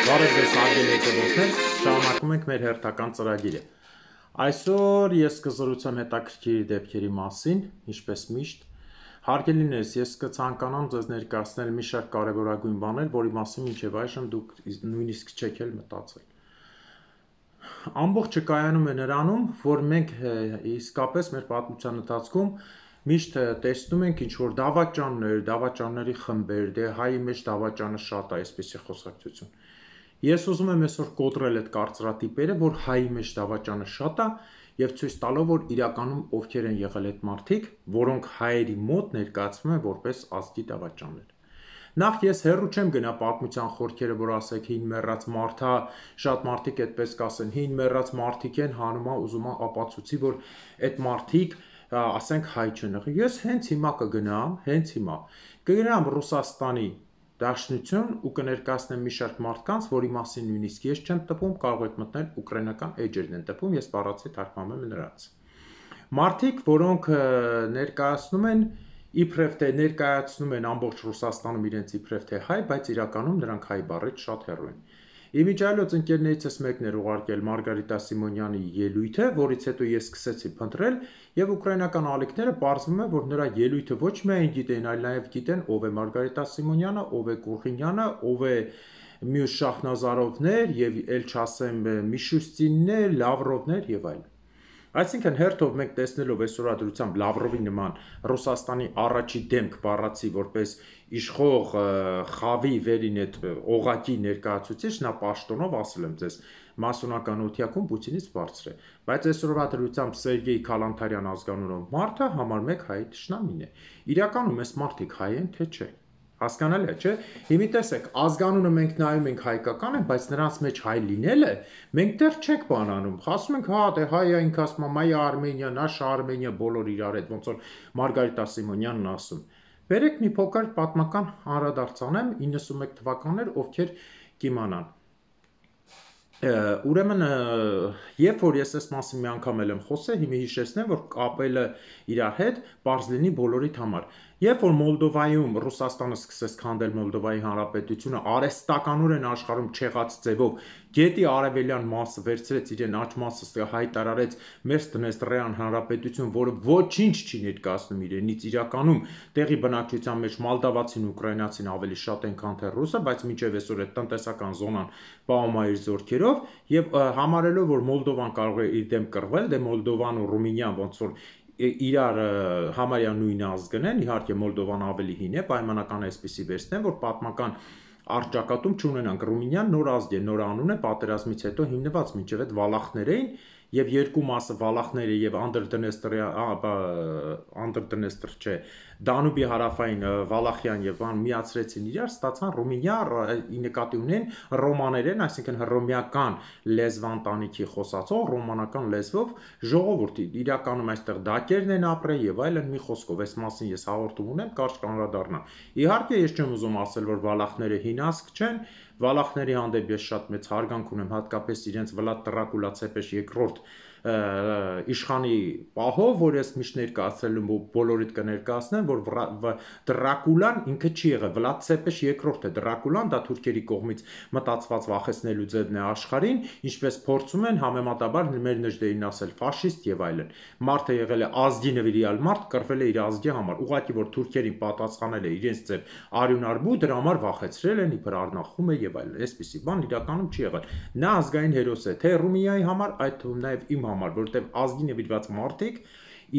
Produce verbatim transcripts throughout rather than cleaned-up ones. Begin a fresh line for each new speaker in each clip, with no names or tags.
Բարև ձեզ հարգելի հետևորդներ, շարունակում ենք մեր հերթական ծրագիրը։ Այսօր ես կզրուցեմ հետաքրքիր դեպքերի մասին, ինչպես միշտ։ Հարգելիներս, ես կցանկանամ ձեզ ներկայացնել մի շարք կարևորագույն բաներ, որի մասին մինչև այժմ դուք նույնիսկ չեք էլ մտածել։ Ամբողջը կայանում է նրանում, որ մենք իսկապես մեր պատմության ընթացքում միշտ տեսնում ենք ինչ-որ դավաճաններ, դավաճանների խմբեր, դե հայի մեջ դավաճանը շատ է, այսպիսի խոսակցություն։ Ես ուզում եմ այսօր կոտրել այդ կարծրատիպերը, որ հայի մեջ դավաճանը շատ է եւ ցույց տալով, որ իրականում ովքեր են եղել այդ մարդիկ, որոնք հայերի մոտ ներկայացվում են որպես ազգի դավաճաններ։ Նախ ես հեռու չեմ գնա պատմության խորքերը, որ ասեք հին մեռած մարդա, շատ մարդիկ այդպես կասեն, հին մեռած մարդիկ են, հանումա ուզում եմ ապացուցի, որ այդ մարդիկ, ասենք, հայ չեն եղել։ Ես հենց հիմա կգնամ, հենց հիմա կգնամ Ռուսաստանի Դաշնություն ու կներկայացնեմ մի շարք մարդկանց, որի մասին նույնիսկ ես չեմ տպում, կարող եք մտնել ուկրաինական էջերն են տպում, ես բառացի թարգմանում եմ նրանց։ Մարդիկ, որոնք ներկայացնում են իբրև թե ներկայացնում են ամբողջ Ռուսաստանում իրենց իբրև թե հայ, բայց իրականում նրանք հայ բառից շատ հեռու են։ Իմիջիայլոց ընկերներիցս մեկն էր ուղարկել Մարգարիտա Սիմոնյանի ելույթը, որից հետո ես սկսեցի փնտրել, եւ ուկրաինական ալիքները պարզվում է, որ նրա ելույթը ոչ միայն գիտեն, այլ նաեւ գիտեն ով է Մարգարիտա Սիմոնյանը, ով է Կուրխինյանը, ով է Մյուս Շախնազարովներ եւ ել չասեմ Միշուստիններ, Լավրովներ եւ այլն։ Այսինքն հերթով մենք տեսնելով այսօրադրությամբ Լավրովի նման Ռուսաստանի առաջի դեմք բառացի որպես իշխող խավի վերին այդ օղակի ներկայացուցիչ, նա պաշտոնով ասել եմ ձեզ մասոնական օթյակում Պուտինից բարձր է, բայց այսօրադրությամբ Սերգեյ Քալանթարյան ազգանունով մարդը համար մեկ հայ թշնամին է։ Իրականում այս մարդիկ հայ են թե չէ։ Հասկանալի է, չէ՞։ Հիմի տեսեք, ազգանունը մենք նայում ենք հայկական են, բայց նրանց մեջ հայ լինելը մենք դեռ չենք բանանում։ Ասում ենք, հա, դե հայը ինքը ասում է, մայա Արմենիա, նաշա Արմենիա, բոլոր իրար հետ, ոնց որ Մարգարիտա Սիմոնյանն ասում։ Բերեք մի փոքր պատմական անդրադարձ անեմ իննսունմեկ թվականներ, ովքեր կիմանան։ Ուրեմն, երբ որ ես այս մասին մի անգամ եմ խոսել, հիմա հիշեցնեմ, որ կապելը իրար հետ բարձ լինի բոլորիդ համար։ Երբ որ Մոլդովայում Ռուսաստանը սկսեց քանդել Մոլդովայի հանրապետությունը, արհեստականորեն աշխարհում չեղած ձևով գետի արևելյան մասը վերցրեց իրեն աջ մասը հայտարարեց մեր Դնեստրյան հանրապետություն, որը ոչինչ չի ներկայացնում իրենից, իրականում տեղի բնակչության մեջ մալդավացին ու ուկրաինացին ավելի շատ են, քան թե ռուսը, բայց մինչև այսօր այդ տնտեսական զոնան պահում է իր զորքերով եւ համարելով, որ Մոլդովան կարող է իր դեմ կռվել, դե Մոլդովան ու Ռումինիան ոնց որ իրար համարյա նույն ազգն են, իհարկե Մոլդովան ավելի հին է, պայմանական այսպեսի վերցնեմ, որ պատմական առճակատում չունենանք, Ռումինիան նոր ազգ է, նոր անուն է, պատերազմից հետո հիմնված, մինչև այդ վալախներ էին, եւ երկու մասը վալախները եւ Անդրդնեստրիա, Անդրդնեստր չէ, Դանուբի հարավային Վալախյան եւ ան միացրեցին իրար, ստացան Ռումինիա, ի նկատի ունեն ռոմաներեն, այսինքն հռոմեական լեզվանտանիքի խոսացող ռոմանական լեզվով ժողովուրդ, իրականում այստեղ դակերն են ապրել եւ այլն, մի խոսքով, այս մասին ես հաղորդում ունեմ, կարճ կանրադառնամ։ Իհարկե ես չեմ ուզում ասել, որ վալախները հին ազգ չեն, վալախների հանդեպ ես շատ մեծ հարգանք ունեմ, հատկապես իրենց Վլադ Տրակուլա Ցեպեշ երկրորդ իշխանի պահով, որ ես միշտ ներկայացրել եմ բոլորիդ կներկայացնեմ, որ Դրակուլան ինքը չի եղել, Վլադ Ցեպեշ երկրորդ է, Դրակուլան դա թուրքերի կողմից մտածված վախեցնելու ձևն է աշխարհին, ինչպես փորձում են համեմատաբար մեր նժդեին ասել ֆաշիստ եւ այլն։ Մարդը եղել է ազգի նվիրյալ մարդ, կռվել է իր ազգի համար, ուղղակի որ թուրքերին պատասխանել է իրենց ձև արյուն արբու, դրա համար վախեցրել են, իբր առնախում է եւ այլն, այսպիսի բան իրականում չի եղել։ Նա ազգային հերոս է, թե Ռումինիայի համար, այդ թվում նաեւ իմ համար, որովհետեւ ազգի նվիրված մարդիկ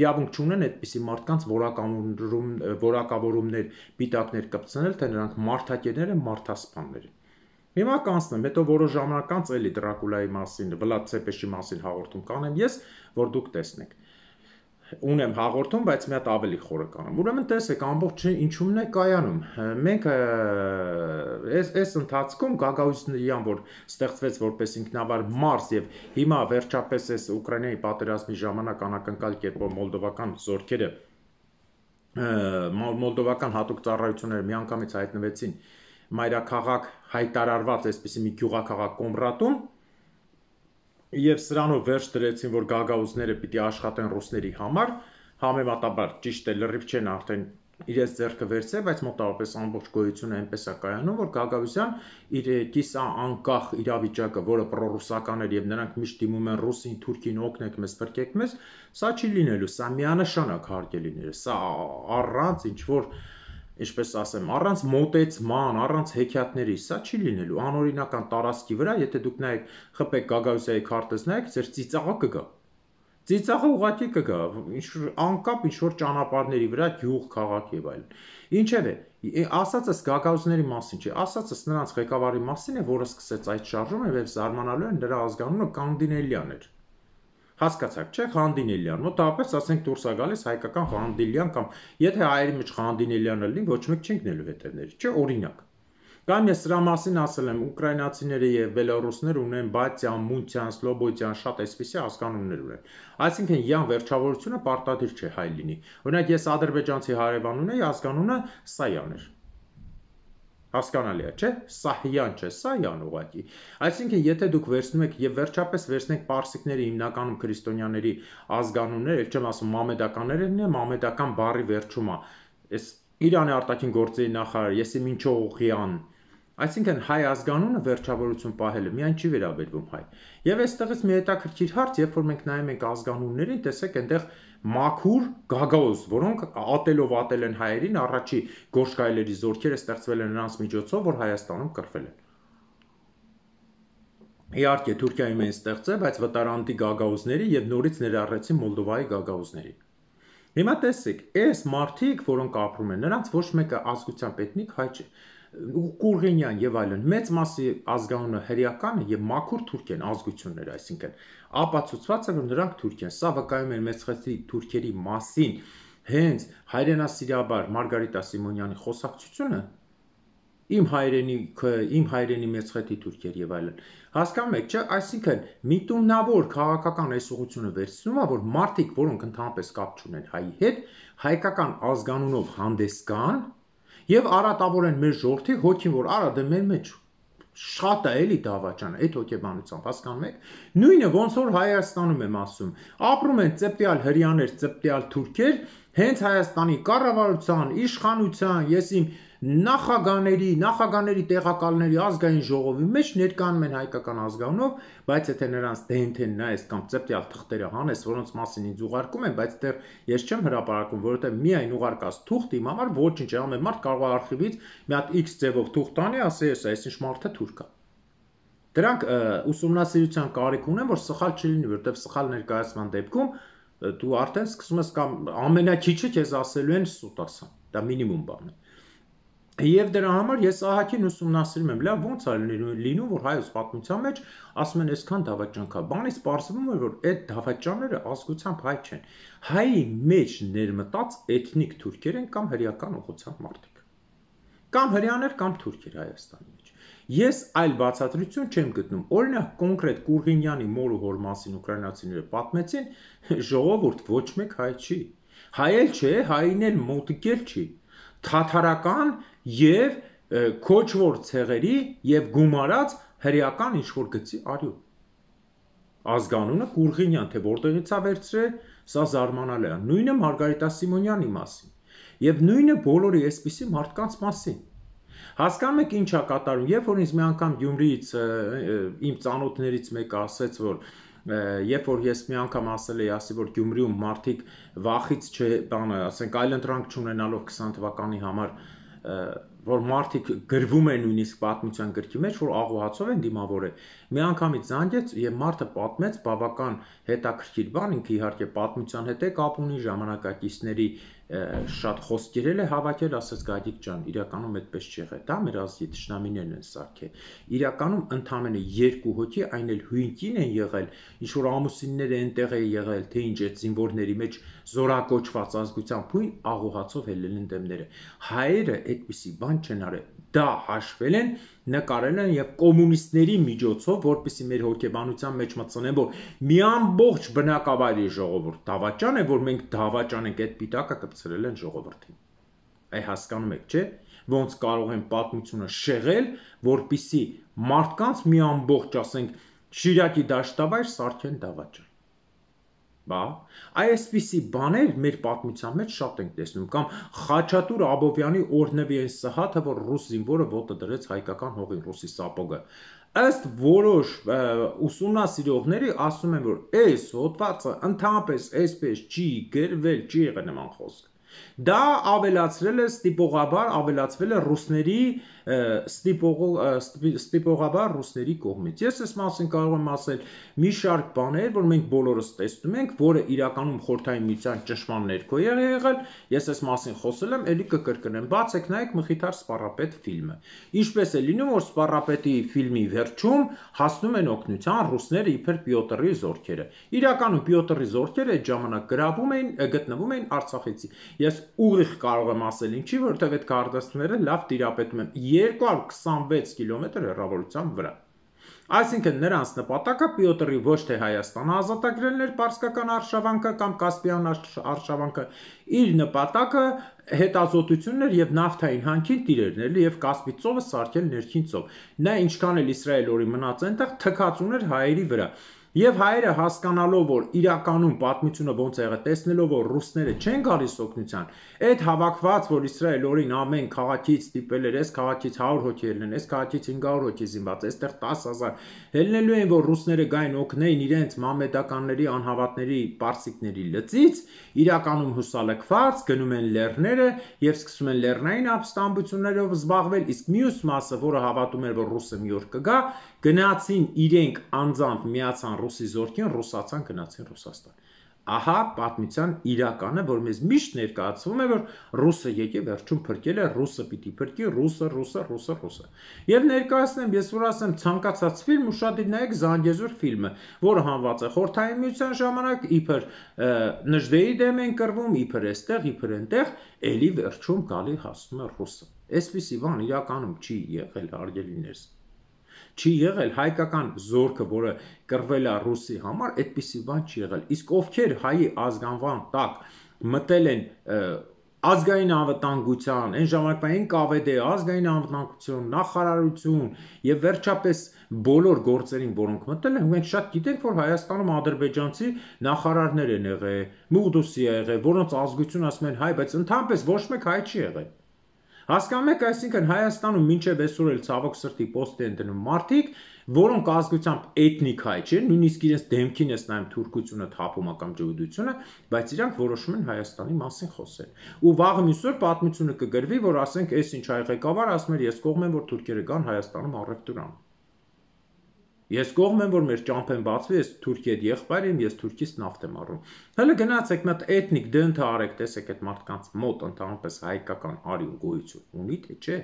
իրավունք չունեն այդպիսի մարդկանց որակավորում, որակավորումներ, պիտակներ կպցնել, թե նրանք մարդակերներ են, մարդասպաններ են։ Հիմա կանցնեմ, հետո որոշ ժամանակ անց էլի Դրակուլայի մասին, Վլադ Ցեպեշի մասին հաղորդում կանեմ ես, որ դուք տեսնեք։ Ունեմ հաղորդում, բայց մի հատ ավելի խորը կանեմ։ Ուրեմն տեսեք, ամբողջ ինչումն է կայանում։ Մենք այս այս ընթացքում Գագաուզյան, որ ստեղծվեց որպես ինքնավար մարզ եւ հիմա վերջապես այս Ուկրաինայի պատերազմի ժամանակ անակնկալ կերպով մոլդովական զորքերը մոլդովական հատուկ ծառայությունները միանգամից հայտնվեցին մայրաքաղաք հայտարարված այսպիսի մի գյուղաքաղաք Կոմրատում եւ սրանով վերջ դրեցին, որ գագաուզները պիտի աշխատեն ռուսների համար, համեմատաբար ճիշտ է լրիվ չեն արդեն իրենց ձեռքը վերցրել, բայց մոտավորապես ամբողջ գոյությունը այնպես է կայանում, որ Գագավոսյան իր կիսաանկախ իրավիճակը, որը պրոռուսական էր եւ նրանք միշտ դիմում են ռուսին, թուրքին, օգնեք մեզ, փրկեք մեզ, սա չի լինելու, սա միանշանակ հարկ է լինելու, սա առանց ինչ որ, ինչպես ասեմ, առանց մոտեցման, առանց հեքիաթների, սա չի լինելու, անօրինական տարածքի վրա, եթե դուք նայեք խփեք Գագավոսյայի քարտեզ նայեք, ձեր ծիծաղը կգա։ Ծիծաղը ուղղակի կգա, անկապ ինչ-որ ճանապարհների վրա գյուղ, քաղաք եւ այլն։ Ինչևէ, ասածս Գագաուզների մասին չի, ասածս նրանց ղեկավարի մասին է, որը սկսեց այդ շարժումը եւ զարմանալու է նրա ազգանունը Կանդինելյան էր։ Հասկացաք, չէ՞, Խանդինելյան, մոտավորապես ասենք դուրս է գալիս հայկական Խանդիլյան կամ եթե հայերի մեջ Խանդինելյանը լինի, ոչ մեկ չենք նելու հետևների, չէ՞, օրինակ։ Կամ ես սրա մասին ասել եմ, ուկրաինացիները եւ բելոռուսները ունեն Բատյան, Մունտյան, Սլոբոդյան, շատ այսպիսի ազգանուններ ունեն։ Այսինքն յան վերջավորությունը պարտադիր չէ հայ լինի։ Օրինակ ես ադրբեջանցի հարևան ունեի, ազգանունը Սայան էր։ Հասկանալի է, չէ՞, Սահյան չէ, Սայան ուղղակի։ Այսինքն եթե դուք վերցնում եք եւ վերջապես վերցնեք պարսիկների հիմնականում քրիստոնյաների ազգանունները, ել չեմ ասում մամեդականները, մամեդական բառի վերջում է։ Այս Իրանի արտաքին գործերի նախարար Եսիմինչօղյան, այսինքն հայ ազգանունը վերջավորություն պահելը միայն չի վերաբերվում հայ։ Եվ այստեղից մի հետաքրքիր հարց, երբ որ մենք նայում ենք ազգանուններին, տեսեք այնտեղ մաքուր գագաուզ, որոնք ատելով ատել են հայերին, առաջի գորշկայլերի զորքերը ստեղծվել են նրանց միջոցով, որ Հայաստանում կռվել են։ Իհարկե Թուրքիայում են ստեղծել, բայց վտարանտի գագաուզների եւ նորից ներառեցին Մոլդովայի գագաուզների։ Հիմա տեսեք, այս մարդիկ, որոնք ապրում են, նրանց ոչ մեկը ազգությամբ էթնիկ հայ չէ, Կուրղենյան եւ այլն, մեծ մասի ազգանունը հրեական է եւ մաքուր թուրք են ազգությունները, այսինքն ապացուցված է, որ նրանք թուրք են, սա վկայում է մեծխեցի թուրքերի մասին, հենց հայրենասիրաբար Մարգարիտա Սիմոնյանի խոսակցությունը, իմ հայրենիքը, իմ հայրենի մեծխեցի թուրքեր եւ այլն, հասկանում եք, չէ, այսինքն միտումնավոր քաղաքական այս ուղղությունը վերցնում է, որ մարդիկ, որոնք ընդհանրապես կապ չունեն հայի հետ, հայկական ազգանունով հանդես գան եւ արատավորեն մեր ժողովրդի հոգին, որ արա դե մեր մեջ շատ է էլի դավաճանը, այդ հոգեբանությամբ, հասկանում եք, նույնը ոնց որ Հայաստանում եմ ասում, ապրում են ծպտյալ հрьяաներ, ծպտյալ թուրքեր, հենց Հայաստանի կառավարության, իշխանության, ես իմ նախագաների, նախագաների տեղակալների ազգային ժողովի մեջ ներկայանում են հայկական ազգանունով, բայց եթե նրանց դենթեն նայես կամ ծպտյալ թղթերը հանես, որոնց մասին ինձ ուղարկում են, բայց դեռ ես չեմ հրապարակում, որովհետև միայն ուղարկած թուղթ իմ համար ոչինչ է, ամեն մարդ կարող է արխիվից մի հատ X ձևով թուղթ անի, ասի ես, այս ինչ մարդը թուրք է։ Դրանք ուսումնասիրության կարիք ունեն, որ սխալ չլինի, որովհետև սխալ ներկայացման դեպքում դու արդեն սկսում ես կամ ամենակիչը քեզ ասելու են սուտ ասա, դա մինիմում բան է։ Եվ դրա համար ես ահագին ուսումնասիրում եմ, լավ ոնց է լինում, որ հայոց պատմության մեջ ասում են այսքան դավաճան կա, բանից պարզվում է, որ այդ դավաճանները ազգությամբ հայ չեն, հայի մեջ ներմտած էթնիկ թուրքեր են կամ հրեական ուղղությամբ մարդիկ, կամ հրեաներ կամ թուրքեր Հայաստանի մեջ։ Ես այլ բացատրություն չեմ գտնում, օրինակ կոնկրետ Կուրղինյանի մոր ու հոր մասին ուկրաինացիները պատմեցին, ժողովուրդ ոչ մեկ հայ չի, հայ էլ չէ, հային էլ մոտիկել չի, թաթարական եւ քոչվոր ցեղերի եւ գումարած հրեական ինչ-որ գծի արյու։ Ազգանունը Կուրղինյան, թե որտեղից է վերցրել, սա զարմանալի է, նույնը Մարգարիտա Սիմոնյանի մասին եւ նույնը բոլորի այսպիսի մարդկանց մասին։ Հասկանում եք ինչ է կատարում, երբ որ ինձ մի անգամ Գյումրիից իմ ծանոթներից մեկը ասեց, որ երբ որ ես մի անգամ ասել էի, ասի որ Գյումրիում մարդիկ վախից չէ, բանը, ասենք այլընտրանք չունենալով քսան թվականի համար, որ մարդիկ գրվում են նույնիսկ պատմության գրքի մեջ, որ աղոհացով են դիմավորել։ Մի անգամից զանգեց եւ մարդը պատմեց բավական հետաքրքիր բան, ինքը իհարկե պատմության հետ է կապ ունի, ժամանակակիցների շատ խոսքերել է հավաքել, ասաց Գագիկ ջան, իրականում այդպես չի եղել, դա մեր ազգի թշնամիներն են սարքել։ Իրականում ընդամենը երկու հոգի, այն էլ հույն կին են եղել, ինչ որ ամուսինները այնտեղ է եղել, թե ինչ այդ զինվորների մեջ զորակոչված ազգության փույն աղուղացով հելել են դեմները։ Հայերը այդպիսի բան չեն արել։ Դա հաշվել են, նկարել են եւ կոմունիստների միջոցով, որպեսզի մեր հոգեբանության մեջ մտցնեն, որ մի ամբողջ բնակավայրի ժողովուրդ դավաճան է, որ մենք դավաճան ենք, այդ պիտակը կպցրել են ժողովրդին։ Այ հասկանում եք, չէ՞, ոնց կարող են պատմությունը շեղել, որպեսզի մարդկանց մի ամբողջ, ասենք, Շիրակի դաշտավայր սարքեն դավաճան։ Բա, այսպիսի բաներ մեր պատմության մեջ շատ ենք տեսնում, կամ Խաչատուր Աբովյանի օրհնվի այն սհաթը, որ ռուս զինվորը ոտը դրեց հայկական հողին, ռուսի սապոգը։ Ըստ որոշ ուսումնասիրողների ասում են, որ այս հոդվածը ընդհանրապես այսպես չի գրվել, չի եղել նման խոսք։ Դա ավելացրել է ստիպողաբար, ավելացվել է ռուսների ստիպողաբար ռուսների կողմից։ Ես այս մասին կարող եմ ասել մի շարք բաներ, որ մենք բոլորս տեսնում ենք, որը իրականում Խորհրդային Միության ճնշման ներքո է եղել, ես այս մասին խոսել եմ, ելի կկրկնեմ, բացեք նայեք Մխիթար Սպառապետ ֆիլմը։ Ինչպես է լինում, որ Սպառապետի ֆիլմի վերջում հասնում են օգնության ռուսները իբր Պյոտրի զորքերը։ Իրականում Պյոտրի զորքերը այդ ժամանակ գրավում էին, գտնվում էին Արցախից։ Ես ուղիղ կարող եմ ասել ինչի, որովհետև այդ քարտեզները լավ տիրապետում են երկու հարյուր քսանվեց կիլոմետր հեռավորության վրա։ Այսինքն նրանց նպատակը Պյոտրի ոչ թե Հայաստանը ազատագրելն էր պարսկական արշավանքը կամ Կասպիան արշավանքը, իր նպատակը հետազոտությունն էր եւ նավթային հանքին տիրերն եւ Կասպի ծովը սարքել ներքին ծով։ Նա ինչքան էլ Իսրայել օրի մնաց այնտեղ թքածուն էր հայերի վրա։ Եվ հայերը հասկանալով, որ իրականում պատմությունը ոնց է եղել, տեսնելով, որ ռուսները չեն գալիս օգնության, այդ հավաքված, որ Իսրայել օրին ամեն քաղաքից ստիպել էր, այս քաղաքից հարյուր հոգի ելնեն, այս քաղաքից հինգ հարյուր հոգի զինված, այստեղ տասը հազար ելնելու են, որ ռուսները գային օգնեին իրենց մամեդականների, անհավատների, պարսիկների լծից, իրականում հուսալքված գնում են լեռները եւ սկսում են լեռնային ապստամբություններով զբաղվել, իսկ մյուս մասը, որը հավատում էր, որ ռուսը մի օր կգա, գնացին իրենք անձամբ միացան ռուսի զորքին, ռուսացան, գնացին Ռուսաստան։ Ահա պատմության իրականը, որ մեզ միշտ ներկայացվում է, որ ռուսը եկե վերջում փրկել է, ռուսը պիտի փրկի, ռուսը, ռուսը, ռուսը, ռուսը։ Եվ ներկայացնեմ, ես որ ասեմ ցանկացած ֆիլմ, ուշադիր նայեք Զանգեզուր ֆիլմը, որը հանված է Խորհրդային Միության ժամանակ, իբր Նժդեի դեմ են կռվում, իբր էստեղ, իբր այնտեղ, էլի վերջում գալի հասնում է ռուսը։ Այսպիսի բան իրականում չի եղել, հարգելիներս։ Չի եղել հայկական զորքը, որը կռվել է ռուսի համար, այդպիսի բան չի եղել։ Իսկ ովքեր հայի ազգանվան տակ մտել են ազգային անվտանգության, այն ժամանակվա են Կ V D, ազգային անվտանգություն, նախարարություն եւ վերջապես բոլոր գործերին, որոնք մտել են, մենք շատ գիտենք, որ Հայաստանում ադրբեջանցի նախարարներ են եղել, Մուղդուսի է եղել, որոնց ազգություն ասում են հայ, բայց ընդհանրապես ոչ մեկ հայ չի եղել։ Հասկանում եք, այսինքն Հայաստանում մինչև այսօր էլ ցավոք սրտի պոստի են դնում մարդիկ, որոնք ազգությամբ էթնիկ հայ չեն, նույնիսկ իրենց դեմքին ես նայում թուրքությունը, թափումը կամ ջհուդությունը, բայց իրանք որոշում են Հայաստանի մասին խոսել։ Ու վաղը մյուսօր պատմությունը կգրվի, որ ասենք, այս ինչ հայ ղեկավար ասում էր, ես կողմ եմ, որ թուրքերը գան Հայաստանում առևտուր անեն։ Ես կողմ եմ, որ մեր ճամփեն բացվի, ես Թուրքիի հետ եղբայր եմ, ես Թուրքից նավթ եմ առնում։ Հələ գնացեք մտ էթնիկ դենթը արեք, տեսեք այդ մարդկանց մոտ ընդհանրապես հայկական արյուն գոյություն ունի թե չէ։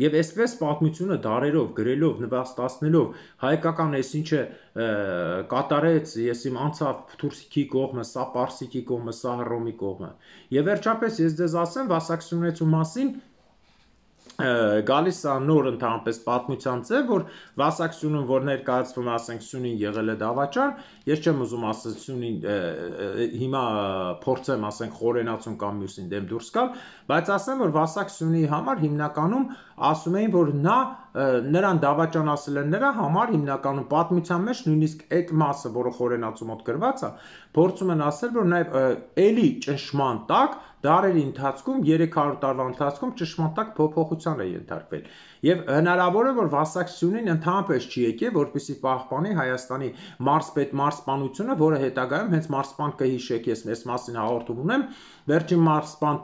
Եվ այսպես պատմությունը դարերով գրելով, նվաստացնելով հայկական այսինչը կատարեց, ես իմ անցավ թուրքի կողմը, սա պարսիկի կողմը, սա հռոմի կողմը։ Եվ վերջապես ես ձեզ ասեմ վասակցությունեցու մասին գալիս է նոր ընդհանրապես պատմության ձև, որ վասակցությունում, որ ներկայացվում է, ասենք Սյունին եղել է դավաճան, ես չեմ ուզում ասել Սյունին հիմա փորձեմ, ասենք խորենացուն կամ մյուսին դեմ դուրս գալ, բայց ասեմ, որ վասակցությունի համար հիմնականում ասում էին, որ նա նրան դավաճան ասել են նրա համար հիմնականում պատմության մեջ նույնիսկ այդ մասը, որը խորենացու մոտ գրված է, փորձում են ասել, որ նաև էլի ճնշման տակ դարերի ընթացքում երեք հարյուր տարվա ընթացքում ճնշման տակ փոփոխության է ենթարկվել։ Եվ հնարավոր է, որ վասակցությունին ընդհանրապես չի եկել, որպեսզի պահպանի Հայաստանի մարզպետ մարզպանությունը, որը հետագայում հենց մարզպան կհիշեք, ես այս մասին հաղորդում ունեմ, վերջին մարզպան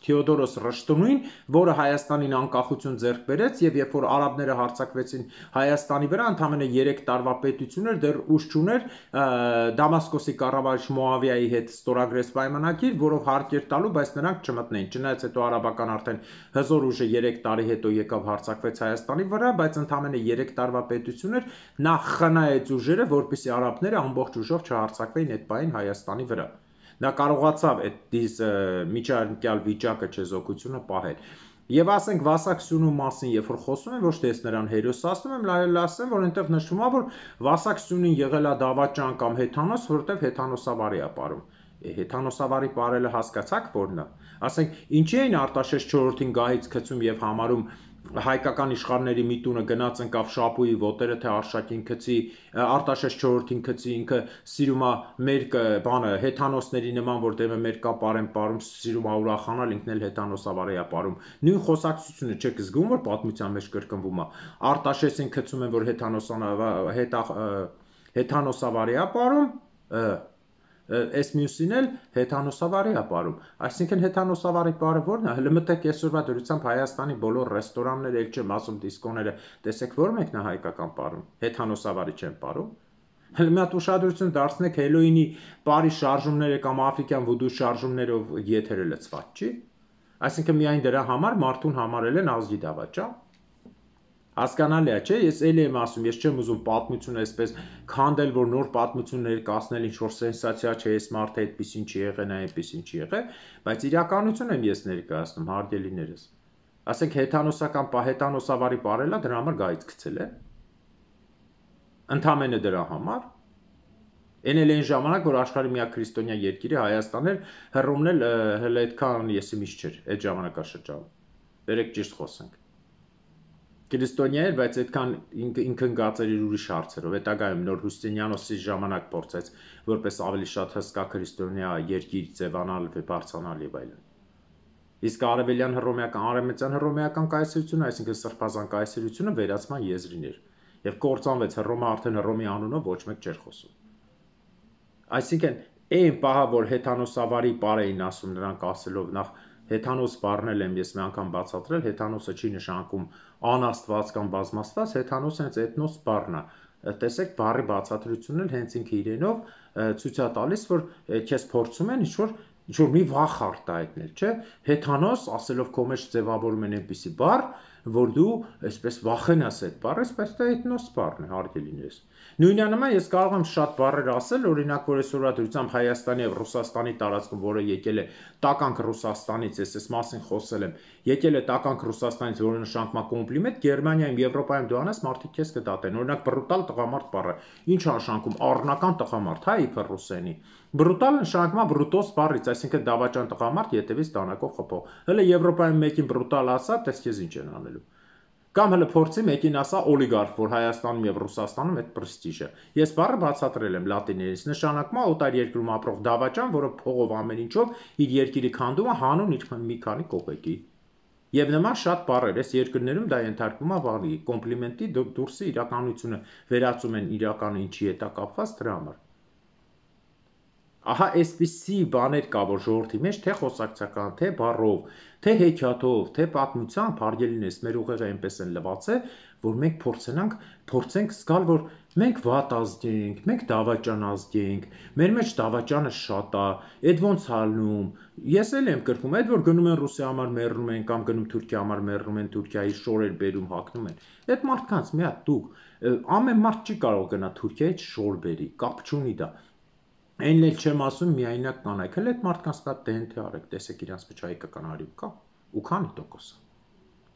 Թեոդորոս Ռշտունին, որը Հայաստանին անկախություն ձեռք բերեց, եւ երբ որ արաբները հարձակվեցին Հայաստանի վրա, ընդամենը երեք տարվա պետություն էր, դեռ ուժ չուներ, Դամասկոսի կառավարիչ Մոավիայի հետ ստորագրեց պայմանագիր, որով հարկ էր տալու, բայց նրանք չմտնեին, չնայած հետո արաբական արդեն հզոր ուժը երեք տարի հետո եկավ հարձակվեց Հայաստանի վրա, բայց ընդամենը երեք տարվա պետություն էր, նա խնայեց ուժերը, որպեսզի արաբները ամբողջ ուժով չհարձակվեին այդ պահին Հայաստանի վրա։ Նա կարողացավ այդ միջանկյալ վիճակը չեզոքությունը պահել։ Եվ ասենք վասակցությունու մասին, երբ որ խոսում են, ոչ թե ես նրան հերոսացնում եմ, այլ ասեմ, որ այնտեղ նշվում է, որ վասակցությունին եղել է դավաճան կամ հեթանոս, որովհետև հեթանոսավարի է ապարում։ Հեթանոսավարի պարելը հասկացաք որն է։ Ասենք, ինչի էին Արտաշես չորրորդին գահից գցում եւ համարում հայկական իշխանների միտունը գնաց ընկավ շապուի ոտերը թե Արշակին գցի, Արտաշես չորրորդին գցի, ինքը սիրում է մեր բանը հեթանոսների նման, որ դեմը մեր կա պարեն պարում, սիրում է ուրախանալ, ինքն էլ հեթանոսավարի է պարում։ Նույն խոսակցությունը չեք զգում, որ պատմության մեջ կրկնվում է։ Արտաշեսին գցում են, որ հեթանոսավարի է պարում, Այս մյուսին էլ հեթանոսավարի է պարում։ Այսինքն հեթանոսավարի պարը որն է։ Հələ մտեք այսօրվա դրությամբ Հայաստանի բոլոր ռեստորանները, ել չեմ ասում դիսկոները, տեսեք որ մեկն է հայկական պարում։ Հեթանոսավարի չեն պարում։ Հələ մի հատ ուշադրություն դարձնեք Հելոյինի պարի շարժումները կամ աֆրիկյան վուդու շարժումներով եթերը լցված չի։ Այսինքն միայն դրա համար մարդուն համարել են ազգի դավաճան։ Հասկանալի է, չէ՞, ես էլի եմ ասում, ես չեմ ուզում պատմությունը այսպես քանդել, որ նոր պատմություն ներկայացնել, ինչ որ սենսացիա չէ, այս մարդը այդպեսին չի եղել, նա այդպեսին չի եղել, բայց իրականություն եմ ես ներկայացնում, հարգելիներս։ Ասենք հեթանոսական հեթանոսավարի պարելա դրա համար գայից գցել է։ Ընդամենը դրա համար։ Էն էլ այն ժամանակ, որ աշխարհի միակ քրիստոնյա երկիրը Հայաստանն էր, հռոմն էլ հələ այդքան եսիմիշ չէր այդ ժամանակաշրջանում։ Դերեք ճիշտ խոսենք։ Քրիստոնյա էր, բայց այդքան ինքն գացեր իր ուրիշ հարցերով։ Հետագայում նոր Հուստինյանոսի ժամանակ փորձեց որպես ավելի շատ հսկա քրիստոնյա երկիր ձևանալ, բարձրանալ եւ այլն։ Իսկ արևելյան հռոմեական, արևմտյան հռոմեական կայսրությունը, այսինքն սրբազան կայսրությունը վերացման եզրին էր։ Եվ կործանվեց Հռոմը, արդեն Հռոմի անունով ոչ մեկ չէր խոսում։ Այսինքն այն պահը, որ հեթանոսավարի պար էին ասում նրանք ասելով նախ հեթանոս բառնել եմ ես մի անգամ բացատրել, հեթանոսը չի նշանակում անաստված կամ բազմաստված, հեթանոսը հենց էթնոս բառն է։ Տեսեք, բառի բացատրությունն էլ հենց ինքը իրենով ցույց է տալիս, որ քեզ փորձում են ինչ-որ ինչ-որ մի վախ արտահայտնել, չէ՞։ Հեթանոս ասելով քո մեջ ձևավորում են այնպիսի բառ, որ դու այսպես վախենաս այդ բառից, բայց դա էթնոս բառն է, հարգելիներս։ Նույնանման ես կարող եմ շատ բառեր ասել, օրինակ, որ այսօրվա դրությամբ Հայաստանի եւ Ռուսաստանի տարածքում, որը եկել է տականք Ռուսաստանից, ես այս մասին խոսել եմ, եկել է տականք Ռուսաստանից, որը նշանակում է կոմպլիմենտ, Գերմանիայում, Եվրոպայում դու անես մարդիկ քեզ կդատեն։ Օրինակ, բրուտալ տղամարդ բառը, ինչ է նշանակում առնական տղամարդ, հա, իբր ռուսենի։ Բրուտալ նշանակում է բրուտոս բառից, այսինքն դավաճան տղամարդ ետևից դանակով խփող։ Հələ Եվրոպայում մեկին բրուտալ ասա, տես քեզ ինչ են անելու։ Կամ հələ փորձի մեկին ասա օլիգարխ, որ Հայաստանում եւ Ռուսաստանում այդ պրեստիժը։ Ես բառը բացատրել եմ լատիներից, նշանակում է օտար երկրում ապրող դավաճան, որը փողով ամեն ինչով իր երկիրի քանդում է հանուն իր մի քանի կոպեկի։ Եվ նման շատ բառեր, այս երկրներում դա ենթարկվում է բառի կոմպլիմենտի դուրսի իրականությունը վերածում են իրականը ինչի հետ է կապված դրա համար։ Ահա այսպիսի բաներ կա, որ ժողովրդի մեջ թե խոսակցական, թե բառով, թե հեքիաթով, թե պատմությամբ հարգելինես մեր ուղեղը այնպես են լվացել, որ մենք փորձենանք, փորձենք զգալ, որ մենք վատ ազգ ենք, մենք դավաճան ազգ ենք, մեր մեջ դավաճանը շատ է, այդ ոնց ալնում։ Ես էլ եմ կրկնում, այդ որ գնում են Ռուսիա համար մեռնում են կամ գնում Թուրքիա համար մեռնում են, Թուրքիայի շորեր բերում հագնում են։ Այդ մարդկանց մի հատ դուք, ամեն մարդ չի կարող գնա Թուրքիայից շոր բերի, կապ չունի դա։ Այն էլ չեմ ասում միայնակ կանայք, հələ այդ մարդկանց կա դեն թե արեք, տեսեք իրանց մեջ հայկական արիվ կա, ու քանի տոկոս է։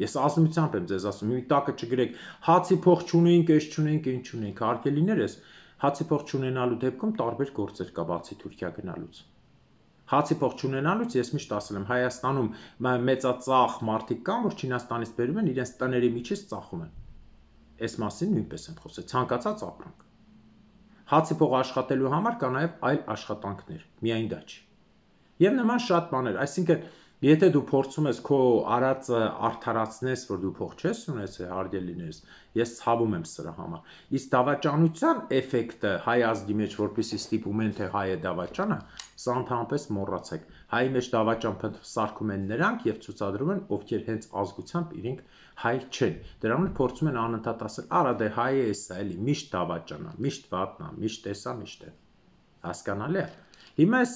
Ես ազնվությամբ եմ ձեզ ասում, մի տակը չգրեք, հացի փող չունենք, էս չունենք, ինչ չունենք, հարգելիներս, հացի փող չունենալու դեպքում տարբեր գործեր կա բացի Թուրքիա գնալուց։ Հացի փող չունենալուց ես միշտ ասել եմ, Հայաստանում մեծածախ մարդիկ կան, որ Չինաստանից բերում են, իրենց տների միջից ծախում են։ Այս մասին նույնպես եմ խոսել, ցանկացած ապրանք։ Հացի փող աշխատելու համար կա նաև այլ աշխատանքներ, միայն դա չի։ Եվ նման շատ բաներ, այսինքն, եթե դու փորձում ես քո արածը արդարացնես, որ դու փող չես ունեցել, հարգելիներս, ես ցավում եմ սրա համար։ Իսկ դավաճանության էֆեկտը հայ ազգի մեջ, որպեսզի ստիպում են թե հայ է դավաճանը, սա ընդհանրապես մոռացեք։ Հայի մեջ դավաճան սարքում են նրանք եւ ցուցադրում են, ովքեր հենց ազգությամբ իրենք հայ չեն։ Դրա համար փորձում են անընդհատ ասել, արա դե հայ է, սա էլի միշտ դավաճան է, միշտ վատնա, միշտ էսա, միշտ է։ Հասկանալի է։ Հիմա այս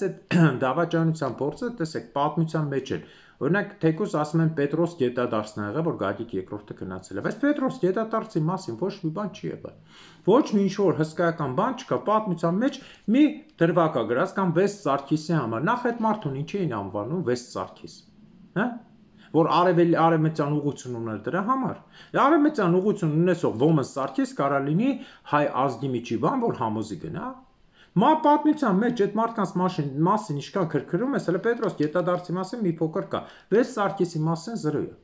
դավաճանության փորձը, տեսեք, պատմության մեջ է։ Օրինակ, թեկուզ ասում են Պետրոս գետադարսն ա եղել, որ Գագիկ երկրորդը գնացել է։ Բայց Պետրոս գետադարսի մասին ոչ մի բան չի եղել։ Ոչ մի ինչ-որ հսկայական բան չկա, պատմության մեջ մի դրվակ ա գրած կամ Վեստ Սարգիսի համար։ Նախ այդ մարդուն ինչ էին անվանում Վեստ Սարգիս, հա՞։ Որ արևել արևմտյան ուղղություն ուներ դրա համար։ Արևմտյան ուղղություն ունեցող Ոմն Սարգիս կարա լինի հայ ազգի միջի բան, որ համոզի գնա։ Մա պատմության մեջ այդ մարդկանց մասին մասին ինչքան քրքրում ես, հələ Պետրոս գետադարսի մասին մի փոքր կա։ Վեստ Սարգիսի մասին զրոյ է։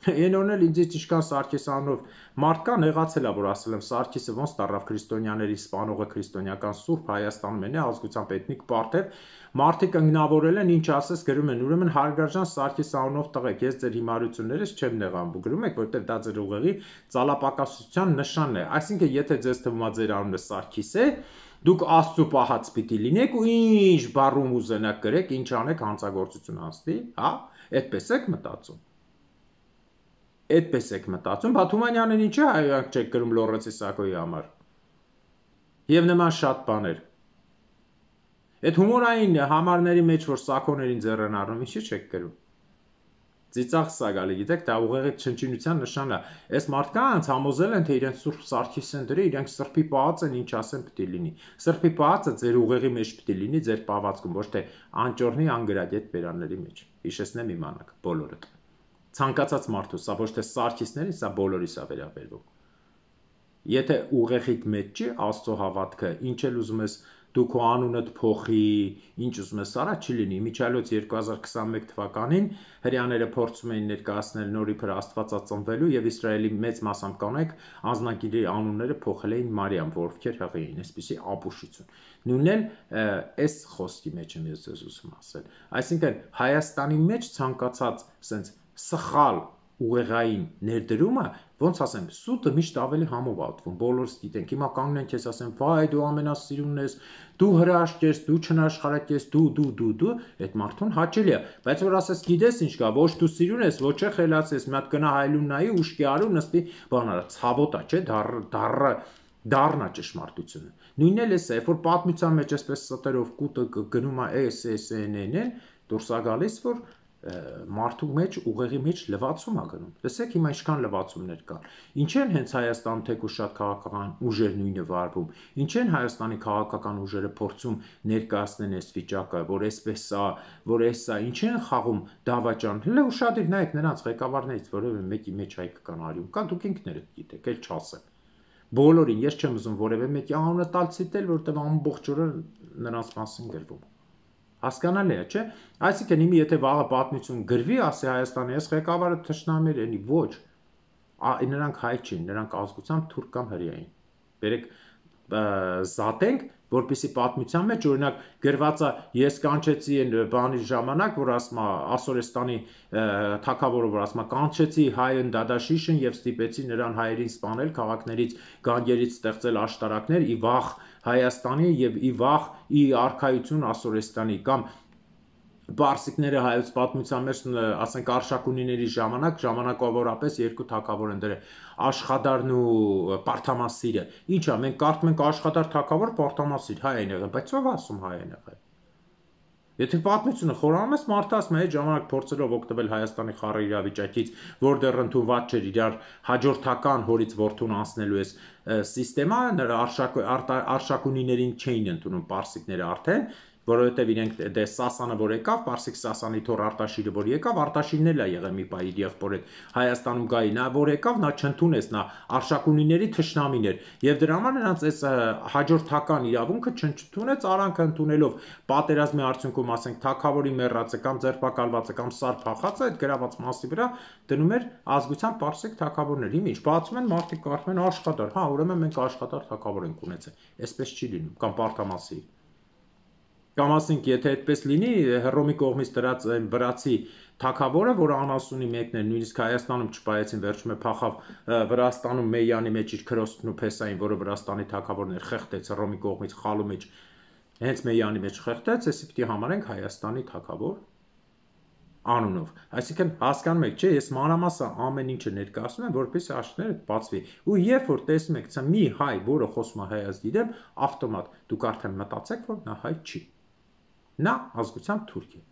Ենորն էլ ինձից ինչքան Սարգիս անով մարդ կա, նեղացել է, որ ասել եմ Սարգիսը ոնց դառավ քրիստոնյաների սպանողը, քրիստոնեական սուրբ Հայաստանում են, ազգությամբ էթնիկ պարթև, մարդիկ ընկնավորել են, ինչ ասես գրում են, ուրեմն Հարգարժան Սարգիս անով տղեկ, ես ձեր հիմարություններից չեմ նեղանվում, գրում եք, որտեղ դա ձեր ուղեղի ծալապակասության նշանն է։ Այսինքն, եթե ձեզ թվում է ձեր անունը Սարգիս է, դուք Աստծո պահած պիտի լինեք ու ինչ բառում ուզենաք գրեք, ինչ անեք հանցագործություն անցնի, հա, այդպես եք մտածում։ Այդպես եք մտածում, բա Թումանյանն ինչի հայանք չեք գրում Լոռենցի Սակոյի համար։ Եվ նման շատ բաներ։ Այդ հումորային համարների մեջ, որ Սակոներին ձեռն առնում, ինչի չեք գրում։ Ծիծաղ սա գալի, գիտեք, դա ուղեղի չնչինության նշան է։ Այս մարդկանց համոզել են, թե իրենց Սուրբ Սարգիս են դրել, իրենք սրբի պահած են, ինչ ասեն պիտի լինի։ Սրբի պահածը ձեր ուղեղի մեջ պիտի լինի, ձեր պահվածքում, ոչ թե անճորնի անգրադիետ բերանների մեջ։ Հիշեցնեմ իմանաք, բոլորդ։ Ցանկացած մարդու, սա ոչ թե Սարգիսների, սա բոլորիս է վերաբերվում։ Եթե ուղեղիդ մեջ չի Աստծո հավատքը, ինչ էլ ուզում ես դու քո անունդ փոխի, ինչ ուզում ես արա, չի լինի։ Միջալոց երկու հազար քսաներեք թվականին հրեաները փորձում էին ներկայացնել նոր իբր Աստվածածնվելու եւ Իսրայելի մեծ մասամբ կանայք անձնագիրի անունները փոխել էին Մարիամ, որ ովքեր հղի էին, այսպեսի ապուշություն։ Նույնն էլ այս խոսքի մեջ եմ ես ձեզ ուզում ասել։ Այսինքն Հայաստանի մեջ ցանկացած sense սխալ ուղեղային ներդրումը, ոնց ասեմ, սուտը միշտ ավելի համով ատվում, բոլորս գիտենք, հիմա կանգնեն քեզ ասեն, վայ, դու ամենասիրունն ես, դու հրաշք ես, դու չնաշխարհակ ես, դու, դու, դու, դու, այդ մարդուն հաճելի է, բայց որ ասես գիտես ինչ կա, ոչ դու սիրուն ես, ոչ է խելացես, մի հատ գնա հայլուն նայի, ուշքի արու նստի, բան արա, ցավոտ է, չէ, դառը, դառը, դառնա ճշմարտությունը։ Նույնն էլ էս է, որ պատմության մեջ այսպես ստերով կուտը գնում է էս, էս, էն, էն, դուրս է գալիս, որ մարդու մեջ ուղեղի մեջ լվացում է գնում։ Տեսեք հիմա ինչքան լվացումներ կան։ Ինչ են հենց Հայաստանում թեկուզ շատ քաղաքական ուժեր նույնը վարվում։ Ինչ են Հայաստանի քաղաքական ուժերը փորձում ներկայացնել այս վիճակը, որ այսպես է, որ էս է, ինչ են խաղում դավաճան։ Հələ ուշադիր նայեք նրանց ղեկավարներից որևէ մեկի մեջ հայկական արյուն կա, դուք ինքներդ գիտեք, էլ չասեմ։ Բոլորին ես չեմ ուզում որևէ մեկի անունը տալ ցիտել, որտեղ ամբողջ օրը նրանց մասին գրվում։ Հասկանալի է, չէ՞։ Այսինքն իմի եթե վաղը պատմություն գրվի, ասի Հայաստանի այս ղեկավարը թշնամի էնի, ոչ։ Նրանք հայ չեն, նրանք ազգությամբ թուրք կամ հրեա են։ Բերեք զատենք, որպեսի պատմության մեջ օրինակ գրվածը ես կանչեցի այն բանի ժամանակ, որ ասում է Ասորեստանի թագավորը, որ ասում է կանչեցի հայն Դադաշիշին եւ ստիպեցի նրան հայերին սպանել, քաղաքներից գանգերից ստեղծել աշտարակներ ի վախ Հայաստանի եւ ի վախ ի արխայություն Ասորեստանի կամ Բարսիկները հայոց պատմության մեջ ասենք Արշակունիների ժամանակ ժամանակավորապես երկու թագավոր են դրել Աշխադարն ու Պարթամասիրը։ Ինչա մենք կարդում ենք Աշխադար թագավոր Պարթամասիր հայ են եղել, բայց ով ասում հայ են եղել։ Եթե պատմությունը խորանում ես, մարդը ասում է այդ ժամանակ փորձելով օգտվել Հայաստանի խառը իրավիճակից, որտեղ ընդունված չէր իրար հաջորդական հորից որդուն անցնելու էս սիստեմա, նրա Արշակունիներին չէին ընդունում պարսիկները արդեն, որովհետև իրենք դե Սասանը որ եկավ, Պարսիկ Սասանի թոր Արտաշիրը որ եկավ, Արտաշիրն էլ է եղել մի պահ իր եղբոր հետ Հայաստանում գայի, նա որ եկավ, նա չընդունեց, նա Արշակունիների թշնամին էր, եւ դրա համար նրանց այս հաջորդական իրավունքը չընդունեց, արանքը ընդունելով պատերազմի արդյունքում, ասենք, թագավորի մեռածը կամ ձերբակալվածը կամ սար փախածը այդ գրաված մասի վրա դնում էր ազգության Պարսիկ թագավորներ։ Հիմա ինչ բացում են մարդիկ կարծում են Աշխադար, հա, ուրեմն մենք Աշխադար թագավոր ենք ունեցել։ Այսպես չի լինում, կամ Պարտամասի Կամ ասենք, եթե այդպես լինի, Հռոմի կողմից դրած վրացի թագավորը, որը անասունի մեկն էր, նույնիսկ Հայաստանում չպայեցին, վերջում է փախավ Վրաստանում Մեյանի մեջ իր քրոստն ու Փեսային, որը Վրաստանի թագավորն էր, խեղդեց Հռոմի կողմից խալու մեջ, հենց Մեյանի մեջ խեղդեց, էսի պիտի համարենք Հայաստանի թագավոր անունով։ Այսինքն հասկանում եք, չէ, ես մանրամասը ամեն ինչը ներկայացնում եմ, որպեսզի աշտները բացվի։ Ու երբ որ տեսնում եք, ցա մի հայ, որը խոսում է հայ ազգի դեմ, ավտոմատ դուք արդեն մտածեք, որ նա հայ չի։ Նա ազգությամբ թուրք է։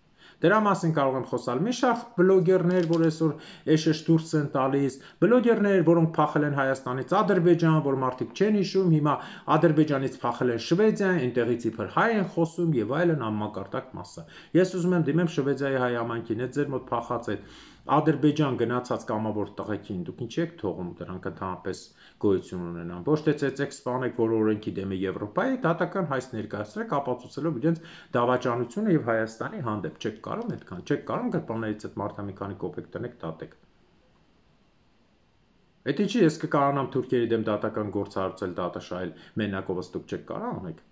Դրա մասին կարող եմ խոսալ մի շարք բլոգերներ, որ այսօր էշեշ դուրս են տալիս, բլոգերներ, որոնք փախել են Հայաստանից Ադրբեջան, որ մարդիկ չեն հիշում, հիմա Ադրբեջանից փախել են Շվեդիա, այնտեղից իբր հայ են խոսում եւ այլն անմակարդակ մասսա։ Ես ուզում եմ դիմեմ Շվեդիայի հայ ամայնքին, այդ ձեր մոտ փախած այդ Ադրբեջան գնացած կամավոր տղեկին դուք ինչ եք թողում դրանք ընդհանրապես գոյություն ունենան։ Ոչ թե ցեցեք սպանեք, որ օրենքի դեմ է Եվրոպայի, դատական հայց ներկայացրեք, ապացուցելով իրենց դավաճանությունը եւ Հայաստանի հանդեպ։ Չեք կարող այդքան, չեք կարող գրպաններից այդ մարդը մի քանի կոպեկ տնեք դատեք։ Էդի չի ես կկարանամ թուրքերի դեմ դատական գործ հարուցել, դատաշահել, մենակով ստուկ չեք կարող անեք։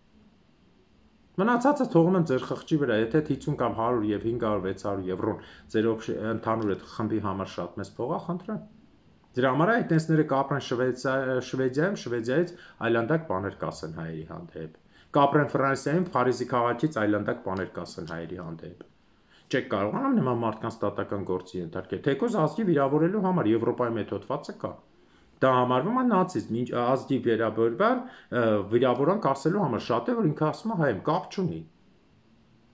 Մնացածը թողում եմ ձեր խղճի վրա, եթե հիսուն կամ հարյուր եւ հինգ հարյուր վեց հարյուր եվրոն ձեր ընդհանուր այդ խմբի համար շատ մեծ փող է, խնդրեմ։ Դրա համար այդ տեսները կապրեն Շվեդիայում, Շվեդիայից այլանդակ բաներ կասեն հայերի հանդեպ։ Կապրեն Ֆրանսիայում, Փարիզի քաղաքից այլանդակ բաներ կասեն հայերի հանդեպ։ Չեք կարողանում նման մարդկանց դատական գործի ենթարկել, թեկուզ ազգի վիրավորելու համար Եվրոպայում այդ հոդվածը կա։ Դա համարվում է նացիզմ, ինչ ազգի վերաբերյալ վիրավորանք ասելու համար, շատ է որ ինքը ասում է հայ եմ, կապ չունի։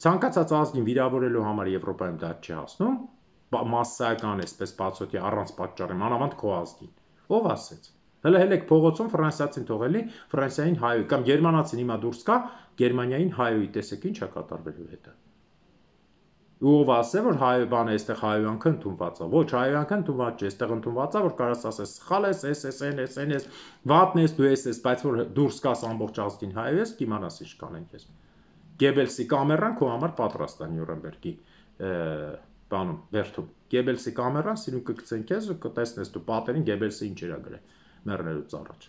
Ցանկացած ազգին վիրավորելու համար Եվրոպայում դա չի հասնում, մասսայական էսպես բացօթյա առանց պատճառի, մանավանդ քո ազգին։ Ով ասեց։ Հələ հելեք փողոցում ֆրանսիացին թողելի, Ֆրանսիային հայոյի կամ գերմանացին հիմա դուրս կա, Գերմանիային հայոյի, տեսեք ինչ է կատարվելու հետը։ Ով ասե որ հայ բանը այստեղ հայոյանքը ընդունված է։ Ոչ, հայոյանքը ընդունված չէ, այստեղ ընդունված է, որ կարաս ասես սխալ ես, էս էս են, էս են, էս վատն ես, դու ես ես, բայց որ դուրս կաս ամբողջ ազգին հայ ես, կիմանաս ինչ կանեն քեզ։ Գեբելսի կամերան քո համար պատրաստ է Նյուրնբերգի բանում, վերթում։ Գեբելսի կամերան սիրուն կգցեն քեզ ու կտեսնես դու պատերին Գեբելսը ինչ էր գրել մեռնելուց առաջ։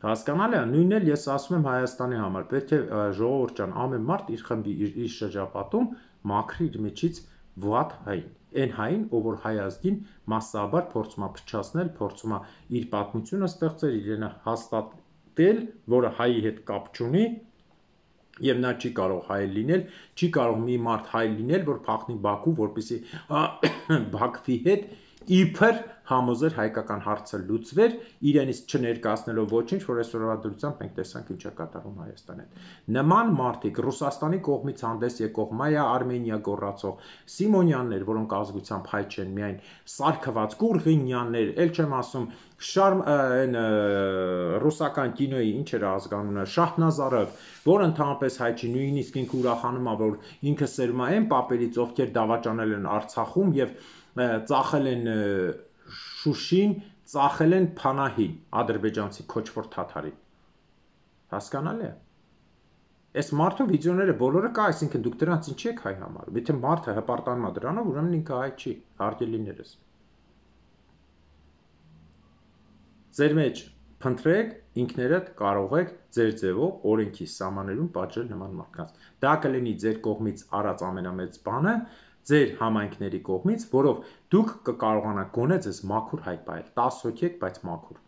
Հասկանալի է, նույնն էլ ես ասում եմ Հայաստանի համար, պետք է ժողովուրդ ջան, ամեն մարդ իր խմբի իր շրջապատում մաքրի իր միջից վատ հային, այն հային, ով որ հայ ազգին մասսաբար փորձում է փչացնել, փորձում է իր պատմությունը ստեղծել, իրենը հաստատել, որը հայի հետ կապ չունի, եւ նա չի կարող հայ լինել, չի կարող մի մարդ հայ լինել, որ փախնի Բաքու, որպեսզի Բաքվի հետ իբր համոզեր հայկական հարցը լուծվեր, իրենից չներկայացնելով ոչինչ, որ այսօրվա դրությամբ մենք տեսանք ինչ է կատարում Հայաստանին։ Նման մարդիկ Ռուսաստանի կողմից հանդես եկող Մայա Արմենիա գոռացող Սիմոնյաններ, որոնք ազգությամբ հայ չեն, միայն սարքված Կուրղինյաններ, ել չեմ ասում Շարմ այն ռուսական կինոյի ինչ էր ազգանունը Շահնազարով, որ ընդհանրապես հայ չի, նույնիսկ ինքը ուրախանում է, որ ինքը սերում է այն պապերից, ովքեր դավաճանել են Արցախում եւ ծախել են Շուշին, ծախել են Փանահին, ադրբեջանցի քոչվոր թաթարին։ Հասկանալի է։ Այս մարդու վիդեոները բոլորը կա, այսինքն դուք դրանց ինչի եք հայ համարում։ Եթե մարդը հպարտանում է դրանով, ուրեմն ինքը հայ չի, հարգելիներս։ Ձեր մեջ փնտրեք, ինքներդ կարող եք ձեր ձևով օրենքի սահմաններում պատժել նման մարդկանց։ Դա կլինի ձեր կողմից արած ամենամեծ բանը, ձեր համայնքների կողմից, որով դուք կկարողանաք գոնե ձեզ մաքուր հայ պահել, տասը հոգի եք, բայց մաքուր։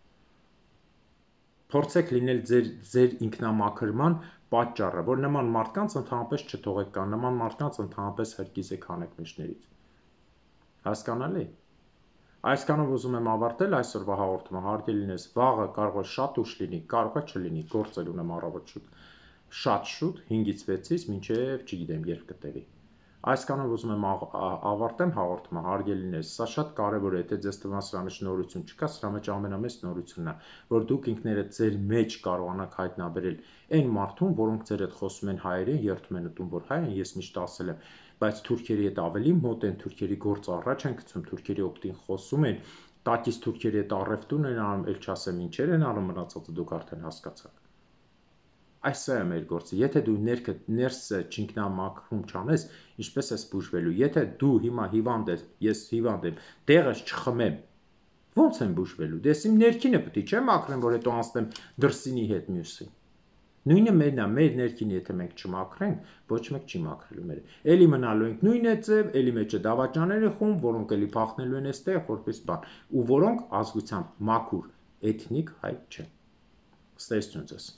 Փորձեք լինել ձեր ձեր ինքնամաքրման պատճառը, որ նման մարդկանց ընդհանրապես չթողեք կան, նման մարդկանց ընդհանրապես հրկիզեք հանեք մեջներից։ Հասկանալի։ Այսքանով ուզում եմ ավարտել այսօրվա հաղորդումը, հարգելիներս, վաղը կարող է շատ ուշ լինի, կարող է չլինի, գործել ունեմ առավոտ շուտ, շատ շուտ, հինգից վեցից մինչև չգիտեմ երբ կտևի։ Այսքանով ուզում եմ ավարտեմ հաղորդումը, հարգելիներս, սա շատ կարևոր է, եթե ձեզ թվում է սրա մեջ նորություն չկա, սրա մեջ ամենամեծ նորությունն է, որ դուք ինքներդ ձեր մեջ կարողանաք հայտնաբերել այն մարդուն, որոնք ձեր հետ խոսում են հայերեն, երդում են ուտում, որ հայ են, ես միշտ ասել եմ, բայց թուրքերի հետ ավելի մոտ են, թուրքերի գործը առաջ են գցում, թուրքերի օգտին խոսում են, տակից թուրքերի հետ առևտուն են անում, ել չասեմ ինչեր են անում, մնացածը դուք արդեն հասկացաք։ Այս է մեր գործը, եթե դու ներքը ներսը չինքնամաքրում չանես, ինչպես ես բուժվելու, եթե դու հիմա հիվանդ ես, ես հիվանդ եմ, տեղս չխմեմ, ո՞նց եմ բուժվելու, դες իմ ներքինը պետք է չեմ մաքրեմ, որ հետո անցնեմ դրսինի հետ մյուսին։ Նույնը մերն է, մեր ներքին եթե մենք չմաքրենք, ոչ մեկ չի մաքրելու մեր։ Էլի մնալու ենք նույն է ձև, էլի մեջը դավաճաների խումբ, որոնք էլի փախնելու են այստեղ, որպես բան, ու որոնք ազգությամբ մաքուր էթնիկ հայ չեն։ Ստեսություն ձեզ։